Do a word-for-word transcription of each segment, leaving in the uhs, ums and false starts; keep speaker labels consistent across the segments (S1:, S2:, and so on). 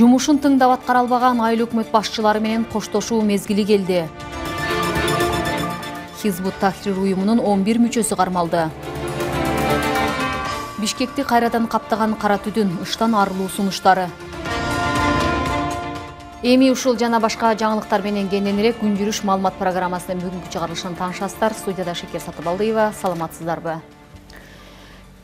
S1: Жумушун тыңдап аткара албаган айыл өкмөт башчылары менен коштошуу мезгили келди. Хизбут Тахрир уюмунун он бир мүчөсү кармалды. Бишкекти кайрадан каптаган кара түтүн, ыштан арылуу сунуштары. Эми ушул жана башка жаңылыктар менен кененирээк күн жүрүш маалымат программасынын бүгүнкү чыгарылышын таанышасыздар. Студияда Шекер Сатыбалдыева, саламатсыздарбы?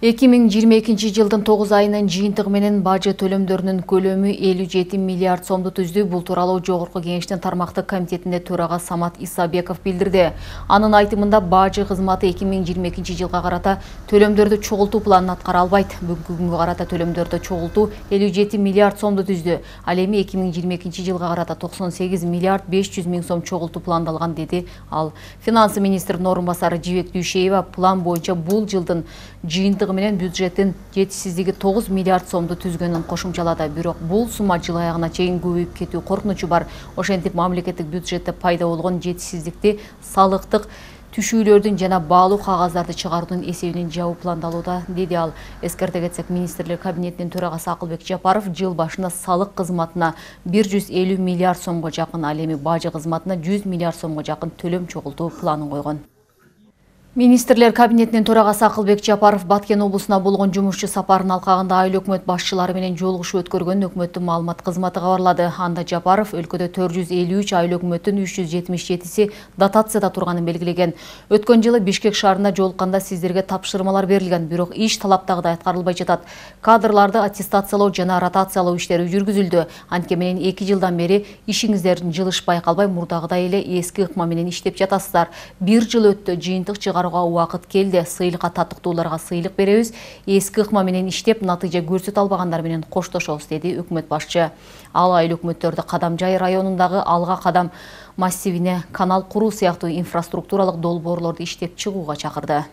S1: эки миң жыйырма экинчи жылдын тогуз айынын жыйынтыгы менен бажы төлөмдөрүнүн көлөмү элүү жети миллиард сомду түздү. Бул тууралуу Жогорку Кеңештин тармактык комитетинде төрага Самат Исабеков билдирди. Анын айтымында бажы кызматы эки миң жыйырма экинчи жылга карата төлөмдөрдү чогултуу планын аткара албайт. Бүгүнкү күнгө карата төлөмдөрдү чогултуу элүү жети миллиард сомду түздү. Ал эми эки миң жыйырма экинчи жылга карата токсон сегиз миллиард беш жүз миң сом чогултуу пландалган, деди ал. Финансы министринин орун басары Жибек Дүйшеева план боюнча бул жылдын жыйынтыгы менен бюджеттин жетишсиздиги тогуз миллиард сомду түзгөнүн кошумчалады. Бирок бул сумма жыл аягына чейин көбөйүп кетүү коркунучу бар. Ошентип мамлекеттик бюджетте пайда болгон жетишсиздикти салыктык түшүүлөрдүн жана баалуу кагаздарды чыгаруунун эсебинен жабуу пландалууда, деди ал. Эскерте кетсек, министрлер кабинетинин төрагасы Акылбек Жапаров жыл башында салык кызматына бир жүз элүү миллиард сомго жакын, ал эми бажы кызматына жүз миллиард сомго жакын төлөм чогултуу планын койгон. Министрлер кабинетинин төрагасы Акылбек Жапаров Баткен облусуна болгон жумушчу сапарын алкагында айыл өкмөт башчылары менен жолугушуу өткөргөнүн өкмөттүн маалымат кызматы кабарлады. Анда Жапаров өлкөдө төрт жүз элүү үч айыл өкмөттүн үч жүз жетимиш жетиси дотацияда турганын белгилеген. Өткөн жылы Бишкек шаарында жолукканда сиздерге тапшырмалар берилген, бирок иш талаптагыдай аткарылбай жатат. Кадрларды аттестациялоо жана ротациялоо иштери жүргүзүлдү. Анткени менен эки жылдан бери ишиңиздердин жылыш байкалбай, мурдагыдай эле эски ыкма менен иштеп жатасыздар. Бир жыл өттү, жыйынтык чыгаруу убакыт келди. Сыйлыкка таттыктууларга сыйлык беребиз. Эски ыкма менен иштеп, натыйжа көрсөтө албагандар менен коштошобуз, деди өкмөт башчы. Ал айыл өкмөттөрдү Кадамжай районундагы Алга Кадам массивине канал куруу сыяктуу инфраструктуралык долбоорлорду иштеп чыгууга чакырды.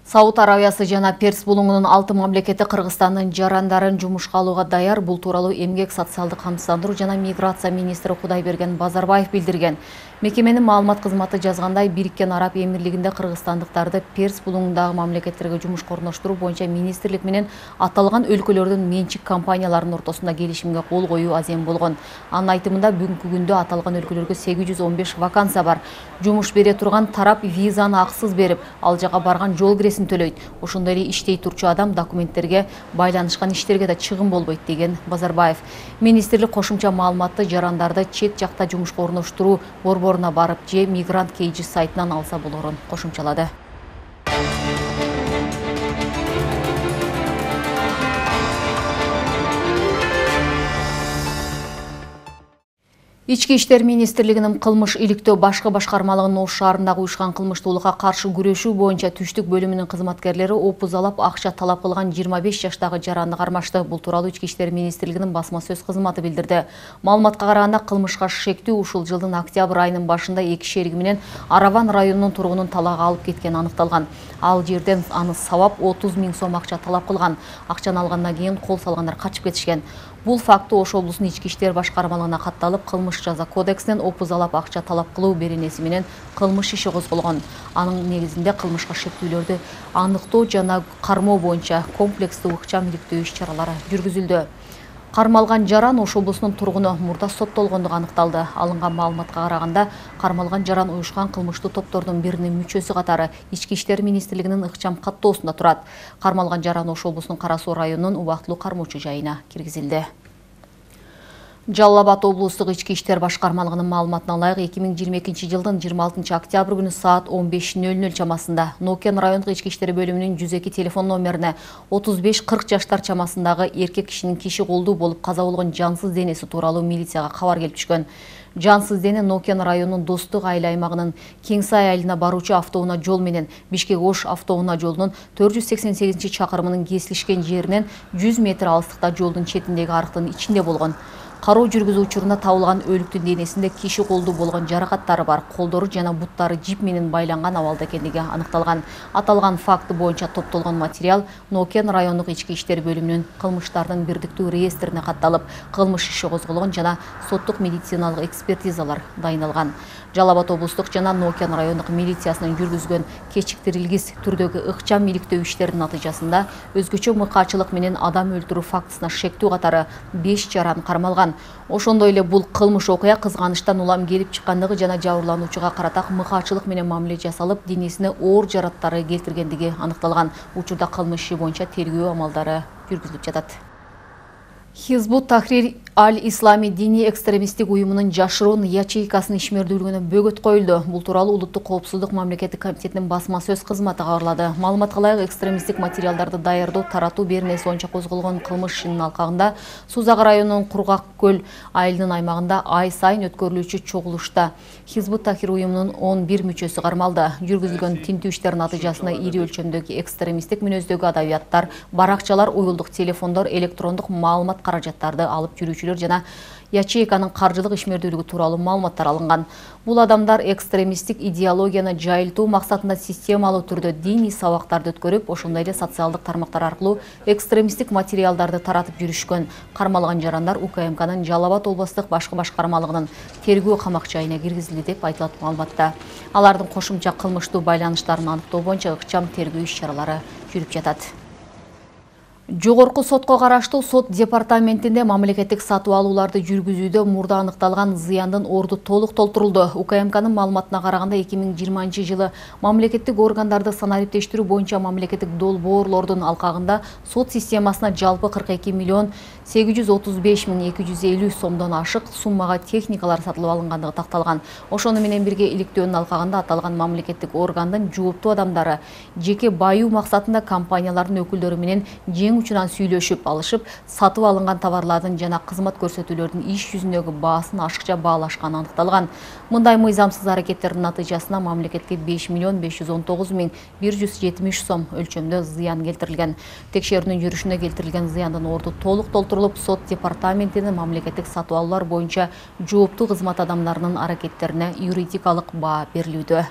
S1: Сауд Арабиясы жана Перс булуңунун алты мамлекети Кыргызстандын жарандарын жумушка алууга даяр. Бул тууралуу эмгек, социалдык камсыздандыруу жана миграция министри Кудайберген Базарбаев билдирген. Мекеменин маалымат кызматы жазгандай, Бириккен Араб Эмирлигинде кыргызстандыктарды Перс булуңундагы мамлекеттерге жумушка орноштуруу боюнча министрлик менен аталган өлкөлөрдүн менчик компанияларынын ортосунда келишимге кол коюу азем болгон. Анын айтымында, бүгүнкү күндө аталган өлкөлөргө сегиз жүз он беш вакансия бар. Жумуш бере турган тарап визаны акысыз берип, ал жака барган жол киресин төлөйт. Ошондой эле иштей турчу адам документтерге байланышкан иштерге да чыгым болбойт, деген Базарбаев. Министрлик кошумча маалыматты жарандарды чет жакта жумушка орноштуруу борборуна барып же мигрант кейжи сайтынан алса болорун кошумчалады. Ички иштер министрлигинин кылмыш иликтөө башкы башкармалыгынын Ош шаарындагы уюшкан кылмыштуулукка каршы күрөшүү боюнча түштүк бөлүмүнүн кызматкерлери опузалап акча талап кылган жыйырма беш жаштагы жаранды кармашты. Бул тууралуу Ички иштер министрлигинин басма сөз кызматы билдирди. Маалыматка караганда, кылмышка шектүү ушул жылдын октябрь айынын башында эки шериги менен Араван районунун тургунун талаага алып кеткени аныкталган. Ал жерден аны сабап отуз миң сом акча талап кылган. Акчаны алгандан кийин кол салгандар качып кетишкен. Бул факты Ош облусунун ички иштер башкармалыгына катталып, кылмыш жаза кодексинен опузалап акча талап кылуу беренеси менен кылмыш иши козголгон. Анын негизинде кылмышка шектүүлөрдү аныктоо жана кармоо боюнча комплекстүү ыкчам иликтөө иш-чаралары жүргүзүлдү. Кармалган жаран Ош облусунун тургуну, мурда соттолгондугу аныкталды. Алынган маалыматка караганда, кармалган жаран уюшкан кылмыштуу топтордун биринин мүчөсү катары Ички иштер министрлигинин ыкчам каттоосунда турат. Кармалган жаран Ош облусунун Кара Суу районунун убактылуу кармоочу жайына киргизилди. Жалал Абад облустук ички иштер башкармалыгынын маалыматына ылайык, эки миң жыйырма экинчи жылдын жыйырма алтынчы октябрь күнү саат он беш нөл нөл чамасында Нокен райондук ички иштер бөлүмүнүн жүз эки телефон номерине отуз беш кырк жаштар чамасындагы эркек кишинин киши колдуу болуп каза болгон жансыз денеси тууралуу милицияга кабар келип түшкөн. Жансыз дене Нокен районунун Достук айыл аймагынын Кеңсай айылына баруучу автоунаа жол менен Бишкек Ош автоунаа жолунун төрт жүз сексен сегизинчи чакырымынын кесилишкен жеринен жүз метр алыстыкта жолдун четиндеги арыктын ичинде болгон. Кароо жүргүзүү учурунда табылган өлүктүн денесинде киши колдуу болгон жаракаттары бар, колдору жана буттары жип менен байланган абалда экендиги аныкталган. Аталган факты боюнча топтолгон материал Нокен райондук ички иштер бөлүмүнүн кылмыштардын бирдиктүү реестрине катталып, кылмыш иши козголгон жана соттук медициналык экспертизалар дайындалган. Жалал Абад облустук жана Нокен райондук милициясынын жүргүзгөн кечиктирилгис түрдөгү ыкчам иликтөө иштеринин натыйжасында өзгөчө мыкаачылык менен адам өлтүрүү фактысына шектүү катары беш жаран кармалган. Ошондой эле бул кылмыш окуя кызганыштан улам келип чыккандыгы жана жабырлануучуга карата мыкаачылык менен мамиле жасалып, денесине оор жараттары келтиргендиги аныкталган. Учурда кылмыш иши боюнча тергөө амалдары жүргүзүлүп жатат. Хизбут Тахрир Аль-Ислами диний экстремисттик уюмунун жашыруун ячейкасынын ишмердүүлүгүнө бөгөт коюлду. Бул тууралуу Улуттук коопсуздук мамлекеттик комитетинин басма сөз кызматы кабарлады. Маалыматка ылайык, экстремисттик материалдарды даярдоо, таратуу беренеси боюнча козголгон кылмыш ишинин алкагында Сузак районунун Кургак көл айылынын аймагында ай сайын өткөрүлүүчү чогулушта Хизбут Тахрир уюмунун он бир мүчөсү кармалды. Жүргүзүлгөн тинтүү иштеринин натыйжасында ири өлчөмдөгү экстремисттик мүнөздөгү адабияттар, баракчалар, уюлдук телефондор, электрондук маалымат каражаттарды алып жүрүүчүлөр жана ячейканын каржылык ишмердүүлүгү тууралуу маалыматтар алынган. Бул адамдар экстремисттик идеологияны жайылтуу максатында системалуу түрдө диний сабактарды өткөрүп, ошондой эле социалдык тармактар аркылуу экстремисттик материалдарды таратып жүрүшкөн. Кармалган жарандар У К М Кнын Жалал Абад облустук башкы башкармалыгынын тергөө камак жайына киргизилди деп айтылат маалыматта. Алардын кошумча кылмыштуу байланыштарын аныктоо боюнча ыкчам тергөө иш-чаралары жүрүп жатат. Жогорку сотко караштуу сот департаментинде мамлекеттик сатып алууларды жүргүзүүдө мурда аныкталган зыяндын орду толук толтурулду. У К М Кнын маалыматына караганда эки миң жыйырманчы жылы мамлекеттик органдарды санариптештирүү боюнча мамлекеттик долбоорлордун алкагында сот системасына жалпы кырк эки миллион сегиз жүз отуз беш миң эки жүз элүү сомдон ашык суммага техникалар сатылып алынгандыгы такталган. Ошону менен бирге иликтөөнүн алкагында аталган мамлекеттик органдын жооптуу адамдары жеке баюу максатында компаниялардын өкүлдөрү менен учунан сүйлөшүп алышып, сатып алынган товарлардын жана кызмат көрсөтүүлөрдүн иш жүзүндөгү баасын ашыкча баалашканы аныкталган. Мындай мыйзамсыз аракеттердин натыйжасында мамлекетке беш миллион беш жүз он тогуз миң бир жүз жетимиш сом өлчөмдө зыян келтирилген. Текшерүүнүн жүрүшүнө келтирилген зыяндын орду толук толтурулуп, сот департаментинин мамлекеттик сатып алуулар боюнча жооптуу кызмат адамдарынын аракеттерине юридикалык баа берилүүдө.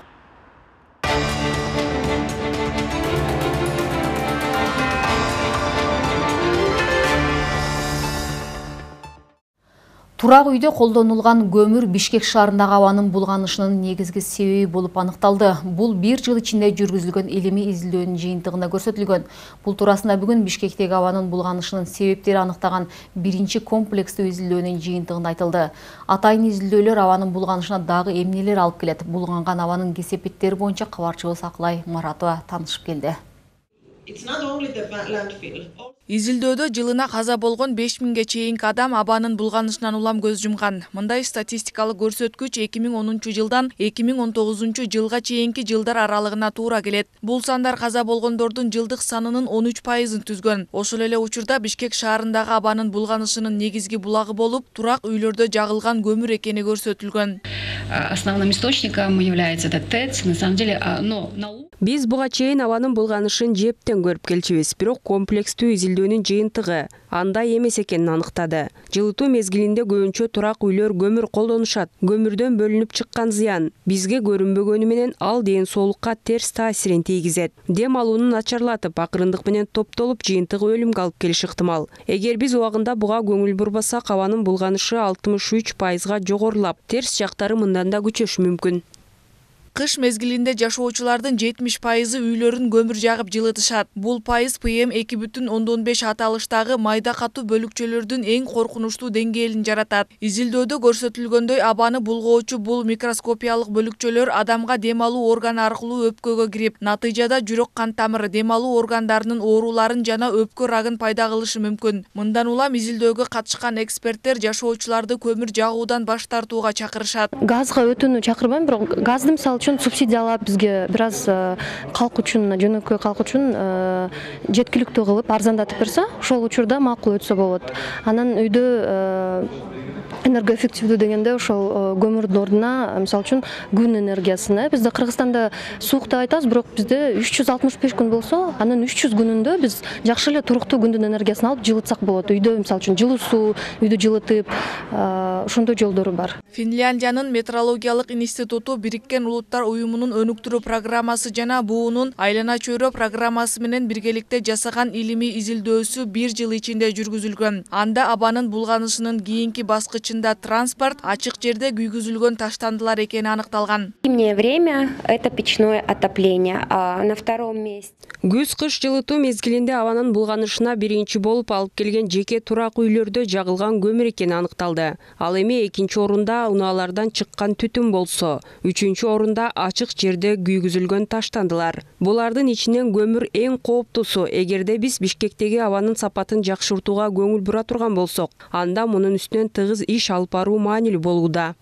S1: Турак үйдө колдонулган көмүр Бишкек шаарындагы абанын булганышынын негизги себеби болуп аныкталды. Бул бир жыл ичинде жүргүзүлгөн илимий изилдөөнүн жыйынтыгында көрсөтүлгөн. Бул туурасында бүгүн Бишкектеги абанын булганышынын себептери аныктаган биринчи комплекстүү изилдөөнүн жыйынтыгында айтылды. Атайын изилдөөлөр абанын булганышына дагы эмнелер алып келет? Булганган абанын кесепеттери боюнча кабарчыбыз Акылай Маратова таанышып келди.
S2: Изилдөөдө жылына каза болгон беш миңге чейинки адам абанын булганышынан улам көз жумган. Мындай статистикалык көрсөткүч эки миң онунчу жылдан эки миң он тогузунчу жылга чейинки жылдар аралыгына туура келет. Бул сандар каза болгондордун жылдык санынын он үч пайызын түзгөн. Ошол эле учурда Бишкек шаарындагы абанын булганышынын негизги булагы болуп, турак үйлөрдө жагылган көмүр экени көрсөтүлгөн.
S3: Основным источником является этот ТЭЦ. На самом деле, но
S4: Биз буга чейин абанын булганышын жептен көрүп келчүбүз, бирок комплекстүү изилдөөнүн жыйынтыгы андай эмес экенин аныктады. Жылытуу мезгилинде көбүнчө турак үйлөр көмүр колдонушат. Көмүрдөн бөлүнүп чыккан зыян бизге көрүнбөгөнү менен ал ден соолукка терс таасирин тийгизет. Дем алууну начарлатып, акырындык менен топтолуп жыйынтыгы өлүмгө алып келиши ыктымал. Эгер биз убагында буга көңүл бурбасак, абанын булганышы алтымыш үч пайызга жогорулап, терс жактары мындан да күчөшү мүмкүн.
S2: Кыш мезгилинде жашоочулардын жетимиш пайызы үйлөрүн көмүр жагып жылытышат. Бул пайыз П М эки бүтүн ондон беш аталыштагы майда катуу бөлүкчөлөрдүн эң коркунучтуу деңгээлин жаратат. Изилдөөдө көрсөтүлгөндөй, абаны булгоочу бул микроскопиялык бөлүкчөлөр адамга дем алуу органы аркылуу өпкөгө кирип, натыйжада жүрөк кан тамыры, дем алуу органдарынын ооруларын жана өпкө рагын пайда кылышы мүмкүн. Мындан улам изилдөөгө катышкан эксперттер жашоочуларды көмүр жагуудан баш тартууга чакырышат.
S5: Газга өтүүнү чакырбайм, бирок газды мисалы үчүн субсидиялап бизге бир аз калк үчүн, жөнөкөй калк үчүн жеткиликтүү кылып арзандатып берсе, ошол учурда макул өтсө болот. Анан үйдө энергоэффективдүү дегенде ошол көмүрдүн ордуна мисалы үчүн күн энергиясына бизде Кыргызстанда суук деп айтабыз, бирок бизде үч жүз алтымыш беш күн болсо, анын үч жүз күнүндө биз жакшы эле туруктуу күндүн энергиясын алып жылытсак болот. Үйдө мисалы үчүн жылуу суу, үйдү жылытып, ошондой жолдору бар.
S2: Финляндиянын метеорологиялык институту Бириккен Улуттар уюмунун өнүктүрүү программасы жана буунун айлана чөйрө программасы менен биргеликте жасаган илимий изилдөөсү бир жыл ичинде жүргүзүлгөн. Анда абанын булганышынын кийинки баскычында транспорт, ачык жерде күйгүзүлгөн таштандылар экени аныкталган.
S6: Зимнее время это печное отопление, а на втором месте.
S4: Күз-кыш жылытуу мезгилинде абанын булганышына биринчи болуп алып келген жеке турак үйлөрдө жагылган көмүр экени аныкталды. Ал эми экинчи орунда унаалардан чыккан түтүн болсо, үчүнчү орунда ачык жерде күйгүзүлгөн таштандылар. Булардын ичинен көмүр эң кооптуусу. Эгерде биз Бишкектеги абанын сапатын жакшыртууга көңүл бура турган болсок, анда мунун үстүнөн тыгыз иш алып баруу маанилүү болууда.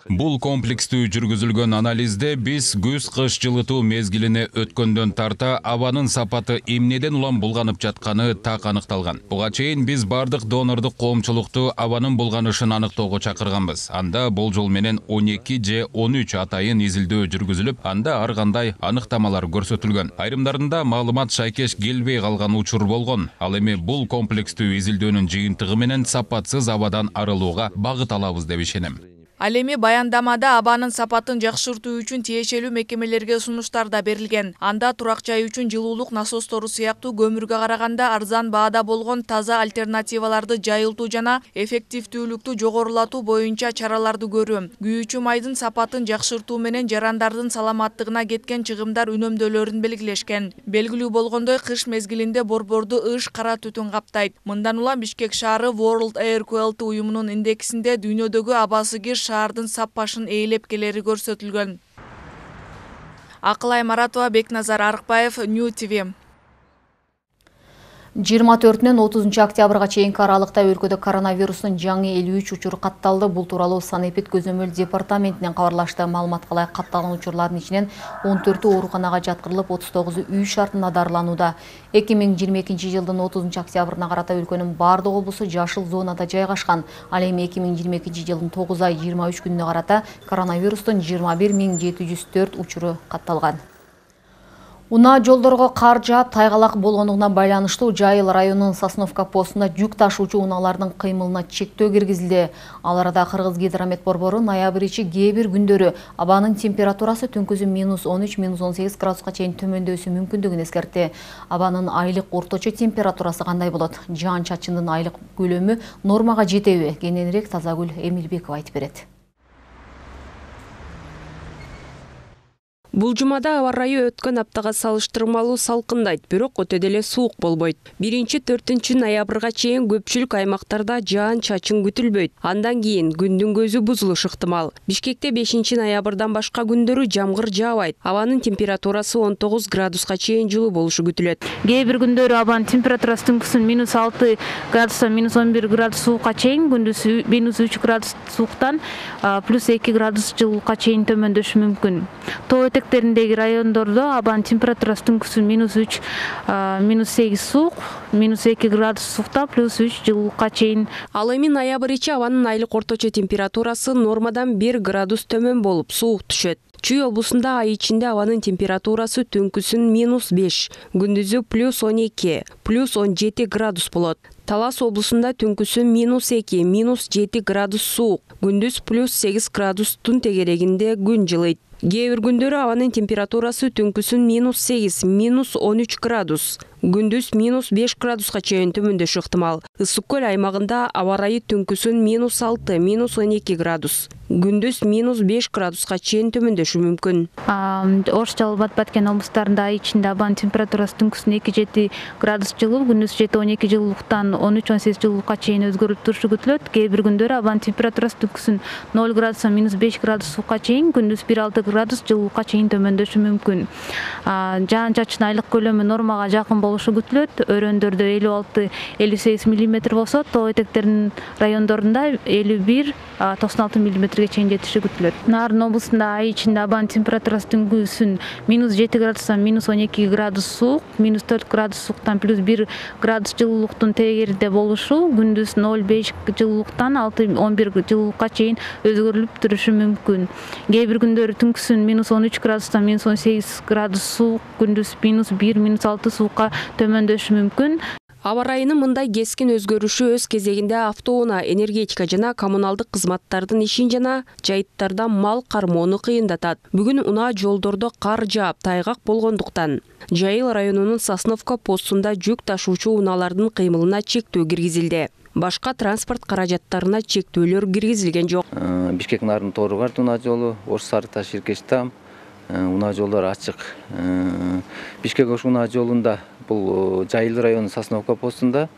S7: Бул комплекстүү жүргүзүлгөн анализде биз күз-кыш жылытуу мезгилине өткөндөн тарта абанын сапаты эмнеден улам булганып жатканы так аныкталган. Буга чейин биз бардык донордук коомчулукту абанын булганышын аныктоого чакырганбыз. Анда болжол менен он эки же он үч атайын изилдөө жүргүзүлүп, анда ар кандай аныктамалар көрсөтүлгөн. Айрымдарында маалымат шайкеш келбей калган учур болгон. Ал эми бул комплекстүү изилдөөнүн жыйынтыгы менен сапатсыз абадан арылууга багыт алабыз деп ишенем.
S2: Ал эми баяндамада абанын сапатын жакшыртуу үчүн тиешелүү мекемелерге сунуштар да берилген. Анда турак жай үчүн жылуулук насостору сыяктуу көмүргө караганда арзан баада болгон таза альтернативаларды жайылтуу жана эффективдүүлүктү жогорулатуу боюнча чараларды көрүү. Күйүүчү майдын сапатын жакшыртуу менен жарандардын саламаттыгына кеткен чыгымдар үнөмдөлөрүн белгилешкен. Белгилүү болгондой, кыш мезгилинде борборду ыш кара түтүн каптайт. Мындан улам Бишкек шаары World Air Quality уюмунун индексинде дүйнөдөгү абасы кир шаардын сап башын ээлеп келери көрсөтүлгөн. Акылай Маратова, Бекназар Арыкбаев, Нью ти ви.
S1: жыйырма төртүнөн отузунчу октябрга чейинки аралыкта өлкөдө коронавирустун жаңы элүү үч учуру катталды. Бул тууралуу Санэпид көзөмөл департаментинен кабарлашты. Маалыматка ылайык катталган учурлардын ичинен он төртү ооруканага жаткырылып, отуз тогузу үй шартында дарыланууда. эки миң жыйырма экинчи жылдын отузунчу октябрына карата өлкөнүн бардык облусу жашыл зонада жайгашкан. Ал эми эки миң жыйырма экинчи жылдын тогуз ай жыйырма үч күнүнө карата коронавирустун жыйырма бир миң жети жүз төрт учуру катталган. Унаа жолдорго кар жаап, тайгалак болгондугуна байланыштуу Жайыл районунун Сосновка постунда жүк ташуучу унаалардын кыймылына чектөө киргизилди. Ал арада Кыргыз гидромет борбору ноябрь ичи кээ бир күндөрү абанын температурасы түнкүсү минус он үч минус он сегиз градуска чейин төмөндөшү мүмкүндүгүн эскертти. Абанын айлык орточо температурасы кандай болот? Жаан-чачындын айлык көлөмү нормага жетеби? Кененирээк Тазагүл Эмилбекова айтып берет.
S4: Бул жумада аба ырайы өткөн аптага салыштырмалуу салкындайт, бирок өтө деле суук болбойт. биринчи төртүнчү ноябрга чейин көпчүлүк аймактарда жаан-чачын күтүлбөйт. Андан кийин күндүн көзү бузулуш ыктымал. Бишкекте бешинчи ноябрдан башка күндөрү жамгыр жаабайт. Абанын температурасы он тогуз градуска чейин жылуу болушу күтүлөт.
S8: Кээ бир күндөрү абанын температурасы түнкүсүн минус алты градустан минус он бир градус суукка чейин, күндүз минус үч градус сууктан плюс эки градус жылуулукка чейин төмөндөшү мүмкүн. Тоо этектериндеги райондордо абанын температурасы түнкүсүн минус үч минус сегиз суук, минус эки градус суукта плюс үч жылуулукка чейин.
S4: Ал эми ноябрь ичи абанын айлык орточо температурасы нормадан бир градус төмөн болуп суук түшөт. Чүй облусунда ай ичинде абанын температурасы түнкүсүн минус беш, күндүзү плюс он эки, плюс он жети градус болот. Талас облусунда түнкүсү минус эки, минус жети градус суук, күндүз плюс сегиз градустун тегерегинде күн жылыйт. Кээ бир күндөрү абанын температурасы түнкүсүн минус сегиз, минус он үч градус, күндүз минус беш градуска чейин төмөндөшү ыктымал. Ысык көл аймагында аба ырайы түнкүсүн минус алты, минус он эки градус, күндүз минус беш градуска чейин төмөндөшү мүмкүн.
S8: Ош Жалал Баткен облустарында ай ичинде абанын температурасы түнкүсүн эки жети градус жылуу, күндүз жети он эки жылуулуктан он үч он сегиз жылуулукка чейин өзгөрүп турушу күтүлөт. Кээ бир күндөрү абанын температурасы түнкүсүн ноль градустан минус беш градус суукка чейин, күндүз бир алты градус жылуулукка чейин төмөндөшү мүмкүн. Жаан-чачын айлык көлөмү нормага жакын болушу күтүлөт. Өрөөндөрдө элүү алты элүү сегиз миллиметр болсо, тоо этектеринин райондорунда элүү бир токсон алты миллиметрге чейин жетиши күтүлөт. Нарын облусунда ай ичинде абанын температурасы түнкүсүн минус жети градустан минус он эки градус суук, минус төрт градус сууктан плюс бир градус жылуулуктун тегеринде болушу, күндүз ноль беш жылуулуктан алты он бир жылуулукка чейин өзгөрүлүп турушу мүмкүн. Кээ бир күндөрү түнкүсүн минус он үч градустан минус он сегиз градус суук, күндүз минус бир минус алты суукка төмөндөшү мүмкүн.
S4: Аба ырайынын мындай кескин өзгөрүшү өз кезегинде автоунаа, энергетика жана коммуналдык кызматтардын ишин жана жайыттарда мал кармоону кыйындатат. Бүгүн унаа жолдордо кар жаап, тайгак болгондуктан Жайыл районунун Сосновка постунда жүк ташуучу унаалардын кыймылына чектөө киргизилди. Башка транспорт каражаттарына чектөөлөр киргизилген жок.
S9: Бишкек Нарын Тору-Карт унаа жолу, Ош Сары-Таш Иркеш-Там унаа жолдор ачык. Бишкек Ош унаа жолунда бул Жайыл районунун Сосновка постунда,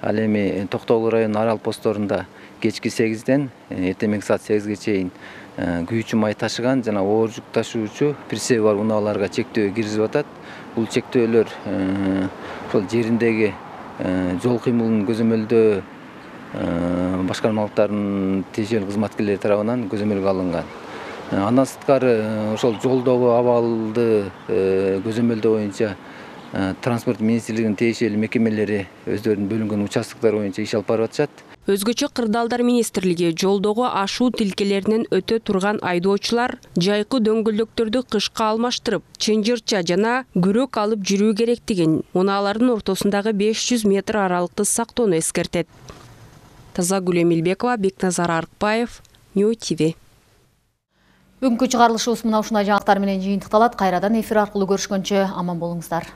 S9: ал эми Токтогул районунун Арал посторунда кечки сегизден эртең саат сегизге чейин күйүүчү май ташыган жана оор жүк ташуучу прицеби бар унааларга чектөө киргизип атат. Бул чектөөлөр ошол жериндеги жол кыймылын көзөмөлдөө башкармалыктардын тиешелүү кызматкерлери тарабынан көзөмөлгө алынган. Андан сырткары ошол жолдогу абалды көзөмөлдөө боюнча транспорт министрлигинин тиешелүү мекемелери өздөрүнүн бөлүнгөн участоктор боюнча иш алып барып атышат.
S4: Өзгөчө Кырдаалдар министрлиги жолдогу ашуу тилкелеринен өтө турган айдоочулар жайкы дөңгөлдөктөрдү кышка алмаштырып, чынжырча жана күрөк алып жүрүү керектигин, унаалардын ортосундагы беш жүз метр аралыкты сактоону эскертет. Тазагүл Эмилбекова, Бекназар Аркпаев, Нью ТВ.
S1: Бүгүнкү чыгарылышыбыз мына ушундай жаңылыктар менен жыйынтыкталат. Кайрадан эфир аркылуу көрүшкөнчө аман болуңуздар.